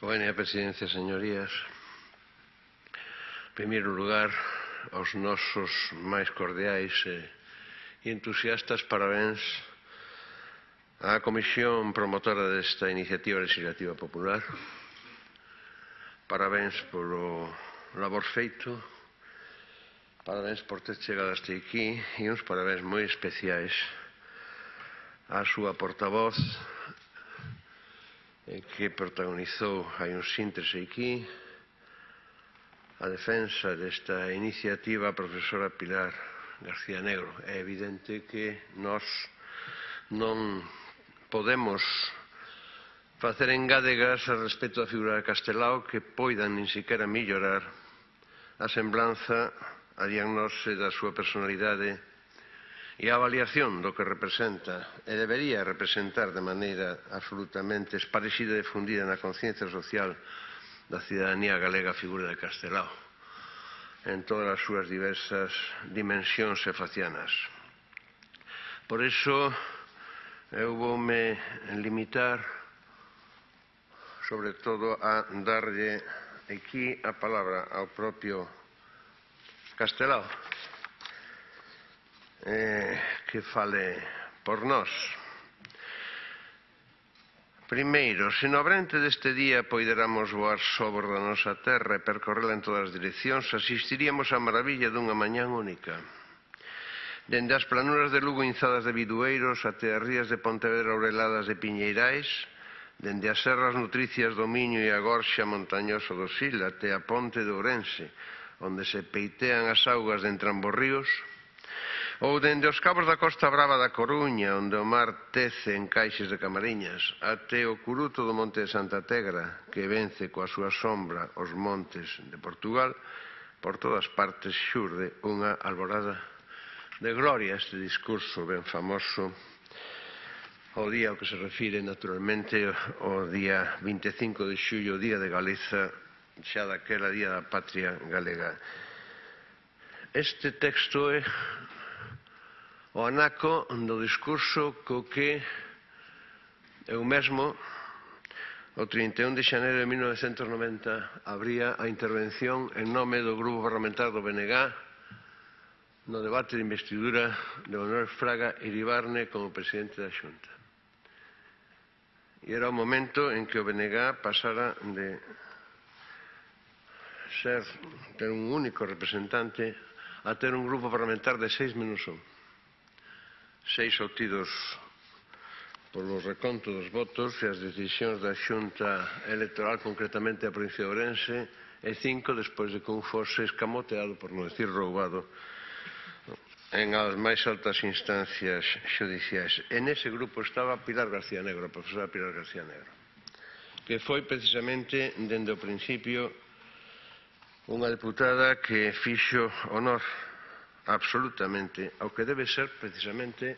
Buena presidencia, señorías. En primeiro lugar, aos nosos máis cordiais e entusiastas parabéns á Comisión promotora desta iniciativa legislativa popular. Parabéns polo labor feito, parabéns por ter chegado hasta aquí e uns parabéns moi especiais á súa portavoz que protagonizou hai uns intres aquí a defensa desta iniciativa, a profesora Pilar García Negro. É evidente que nós non podemos facer engádegas a respecto da figura de Castelao que poidan nin sequera mellorar a semblanza, a diagnose da súa personalidade e a avaliación do que representa e debería representar de maneira absolutamente esparexida e difundida na conciencia social da cidadanía galega a figura de Castelao en todas as súas diversas dimensións e facianas. Por iso, eu voume limitar sobre todo a darlle aquí a palabra ao propio Castelao que fale por nós. Primeiro, se no abrente deste día poideramos voar sobre da nosa terra e percorrela en todas as direccións, asistiríamos á maravilla dunha mañán única. Dende as planuras de Lugo inzadas de bidueiros até as rías de Pontevedra aureladas de piñeirais, dende as serras nutricias do Miño e a gorxa montañosa do Sil até a ponte de Ourense, onde se peitean as augas de entrambos ríos, ou dende os cabos da Costa Brava da Coruña, onde o mar tece en caixes de Camariñas, até o curuto do Monte de Santa Tegra, que vence coa súa sombra os montes de Portugal, por todas partes xurde unha alborada de gloria. Este discurso ben famoso o día ao que se refire, naturalmente, o día 25 de xullo, o Día de Galiza, xa daquela Día da Patria Galega. Este texto é o anaco do discurso co que eu mesmo, o 31 de xaneiro de 1990, abría a intervención en nome do Grupo Parlamentar do BNG no debate de investidura de Manuel Fraga Iribarne como presidente da Xunta. E era o momento en que o BNG pasara de ter un único representante a ter un grupo parlamentar de 6 menos 1. 6 obtidos polo reconto dos votos e as decisións da Xunta Electoral, concretamente a provincia de Ourense, e 5 despois de que un fose escamoteado, por non decir roubado, en as máis altas instancias xudiciais. En ese grupo estaba Pilar García Negro, a profesora Pilar García Negro, que foi precisamente, dende o principio, unha deputada que fixo honor absolutamente ao que debe ser precisamente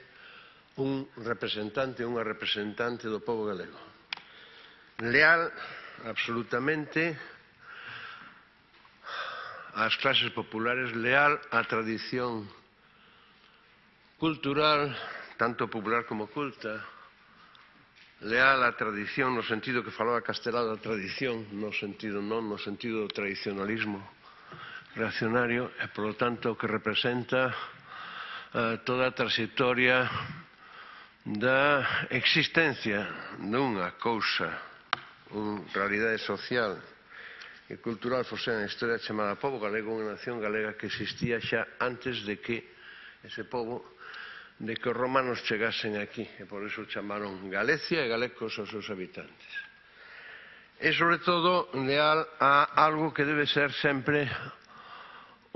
un representante, unha representante do pobo galego. Leal absolutamente ás clases populares, leal á tradición cultural, tanto popular como culta, leal á tradición no sentido que falaba Castelao da tradición, no sentido do tradicionalismo reaccionario, e, polo tanto, que representa toda a trayectoria da existencia dunha cousa, unha realidade social e cultural fose na historia chamada pobo galego, unha nación galega que existía xa antes de que ese pobo, de que os romanos chegasen aquí, e por iso chamaron Galicia e galecos aos seus habitantes. E, sobre todo, leal a algo que debe ser sempre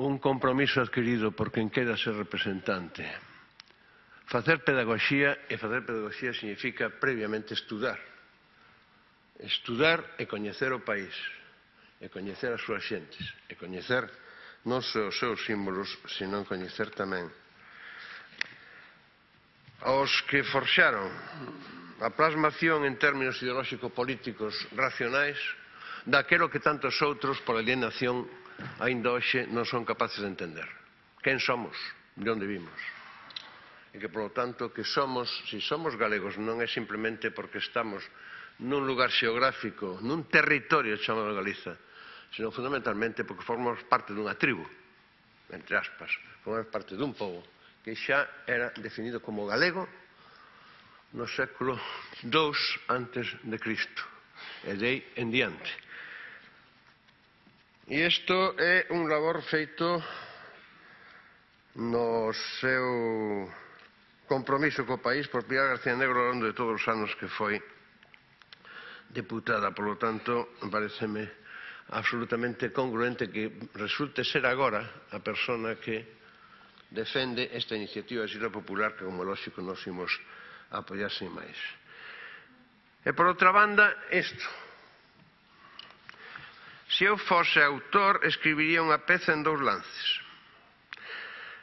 un compromiso adquirido por quen queda ser representante. Facer pedagogía, e facer pedagogía significa previamente estudar. Estudar e coñecer o país, e coñecer as súas xentes, e coñecer non só os seus símbolos, senón coñecer tamén aos que forxaron a plasmación en términos ideolóxico-políticos racionais daquelo que tantos outros, por alienación, aínda hoxe non son capaces de entender. Quen somos? De onde vimos? E que, polo tanto, que somos, se somos galegos, non é simplemente porque estamos nun lugar xeográfico, nun territorio chamado Galiza, senón fundamentalmente porque formamos parte dunha tribu, entre aspas, formamos parte dun pobo que xa era definido como galego no século II antes de Cristo, e de aí en diante. E isto é un labor feito no seu compromiso co país por Pilar García Negro ao longo de todos os anos que foi deputada. Por lo tanto, pareceme absolutamente congruente que resulte ser agora a persona que defende esta iniciativa de Xira Popular que, como lógico, nos imos apoiar sin máis. E, por outra banda, isto. Se eu fose autor, escribiría unha peza en 2 lances.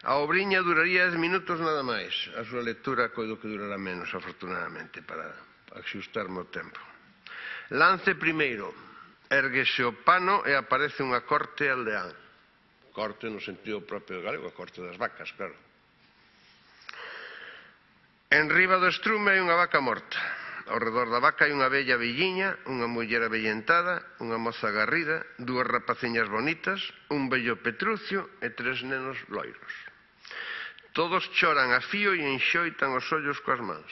A obriña duraría 10 minutos nada máis. A súa lectura coido que durará menos, afortunadamente, para axustarme o tempo. Lance primeiro. Érguese o pano e aparece unha corte aldeán. Corte no sentido propio galego, a corte das vacas, claro. Enriba do estrume hai unha vaca morta. Ao redor da vaca hai unha vella velliña, unha muller avellentada, unha moza garrida, 2 rapaciñas bonitas, un vello petrucio e 3 nenos loiros. Todos choran a fío e enxoitan os ollos coas mans.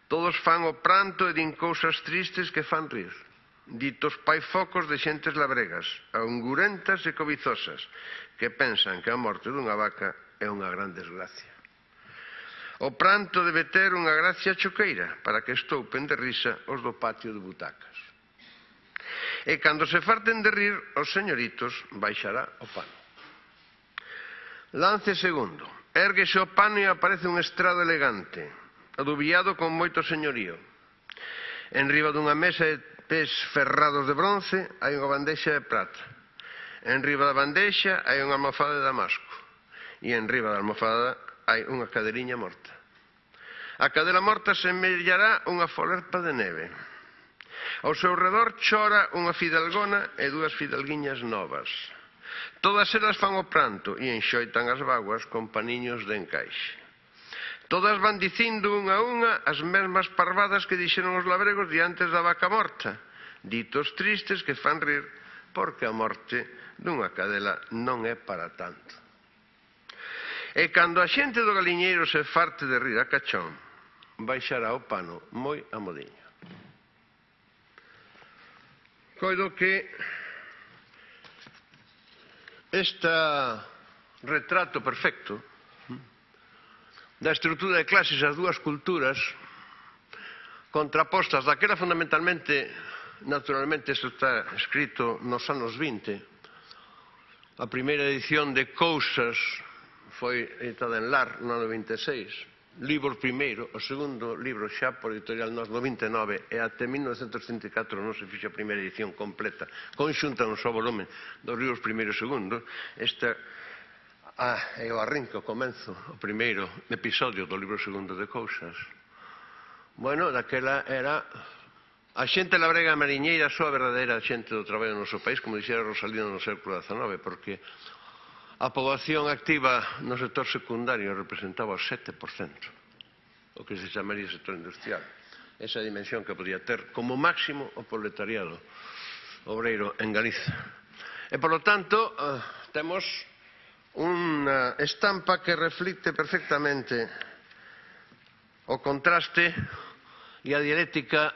Todos fan o pranto e din cousas tristes que fan rir. Ditos paifocos de xentes labregas, angurentas e cobizosas, que pensan que a morte dunha vaca é unha gran desgracia. O pranto debe ter unha gracia choqueira para que estoupen de risa os do patio de butacas. E cando se farten de rir, os señoritos baixará o pano. Lance segundo. Érguese o pano e aparece un estrado elegante, adubiado con moito señorío. Enriba dunha mesa de pés ferrados de bronce hai unha bandexa de prata. Enriba da bandexa hai unha almofada de damasco. E enriba da almofada hai unha caderiña morta. A cadela morta semellará unha folerpa de neve. Ao seu redor chora unha fidalgona e 2 fidalguiñas novas. Todas elas fan o pranto e enxoitan as vaguas con paniños de encaixe. Todas van dicindo unha a unha as mesmas parvadas que dixeron os labregos diantes da vaca morta, ditos tristes que fan rir porque a morte dunha cadela non é para tanto. E cando a xente do galiñeiro se farte de rir a cachón, baixará o pano moi a modiño. Coido que este retrato perfecto da estrutura de clases das 2 culturas contrapostas, daquela fundamentalmente, naturalmente, isto está escrito nos anos 20, a primeira edición de Cousas foi editada en Lar no ano 26, libro primeiro, o segundo libro xa por editorial Nós no 29 e até 1934 non se fixo a primeira edición completa, conxunta un só volumen dos libros primeiro e segundo. Esta é o arrinco, o comenzo, o primeiro episodio do libro segundo de Cousas. Bueno, daquela era a xente labrega mariñeira, só a verdadeira xente do traballo no noso país, como dixera Rosalino no século XIX, porque a poboación activa no sector secundario representaba o 7%, o que se chamaría sector industrial. Esa dimensión que podía ter como máximo o proletariado obreiro en Galiza. E, por lo tanto, temos unha estampa que reflicte perfectamente o contraste e a dialéctica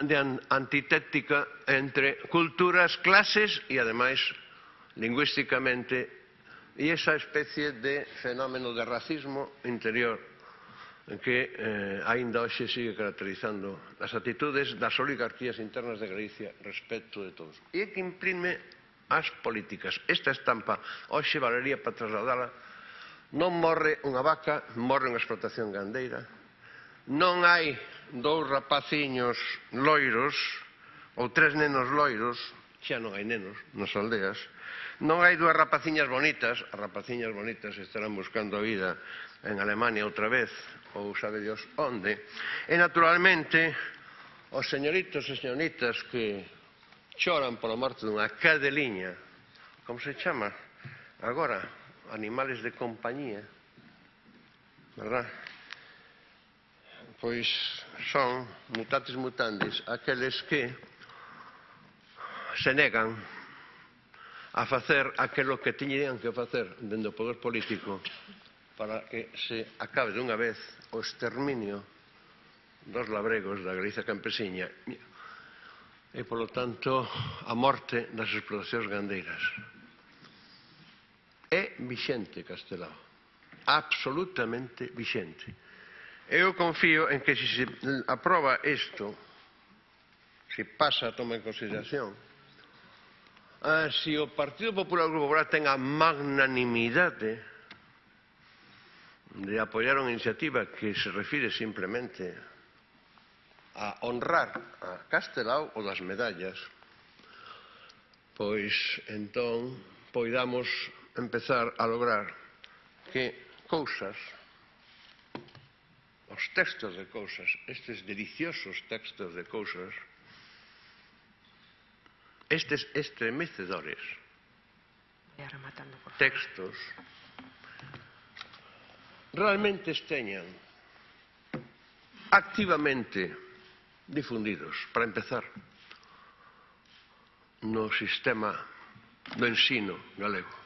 antitéctica entre culturas, clases e, ademais, lingüísticamente, e esa especie de fenómeno de racismo interior que aínda hoxe sigue caracterizando as actitudes das oligarquías internas de Galicia respecto de todos. E que imprime as políticas. Esta estampa hoxe valería para trasladala. Non morre unha vaca, morre unha explotación gandeira. Non hai 2 rapaciños loiros ou 3 nenos loiros, xa non hai nenos nas aldeas. Non hai 2 rapaciñas bonitas, as rapaciñas bonitas estarán buscando a vida en Alemania outra vez, ou sabe Dios onde. E, naturalmente, os señoritos e señoritas que choran pola morte dunha cadeliña, como se chama agora, animales de compañía, verdad? pois son mutatis mutandis aqueles que se negan a facer aquilo que tiñan que facer dende o poder político para que se acabe dunha vez o exterminio dos labregos da Galicia campesiña e, polo tanto, a morte das explotacións gandeiras. É vixente Castelao, absolutamente vixente. Eu confío en que se aproba isto, se pasa a toma en consideración, se o Partido Popular e o Grupo Popular ten a magnanimidade de apoiar unha iniciativa que se refire simplemente a honrar a Castelao o das medallas, pois entón poidamos empezar a lograr que cousas, os textos de cousas, estes deliciosos textos de cousas, estes estremecedores textos, realmente esteñan activamente difundidos, para empezar, no sistema do ensino galego.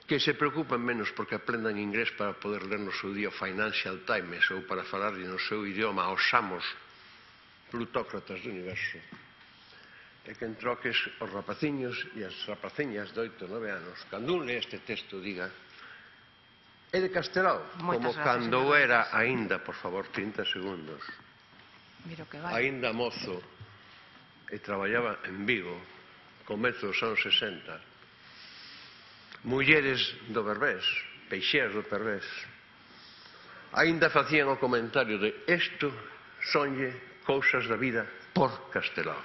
Que se preocupen menos porque aprendan inglés para poder ler no seu día o Financial Times ou para falar no seu idioma aos amos plutócratas do universo. E que en troques os rapaciños e as rapaciñas de 8 ou 9 anos, cando un lee este texto, diga: é de Castelao, como cando era aínda, por favor, 30 segundos, aínda mozo e traballaba en Vigo, comezo dos anos 60, mulleres do Berbés, peixeras do Berbés, aínda facían o comentario de isto sonlle cousas da vida por Castelao.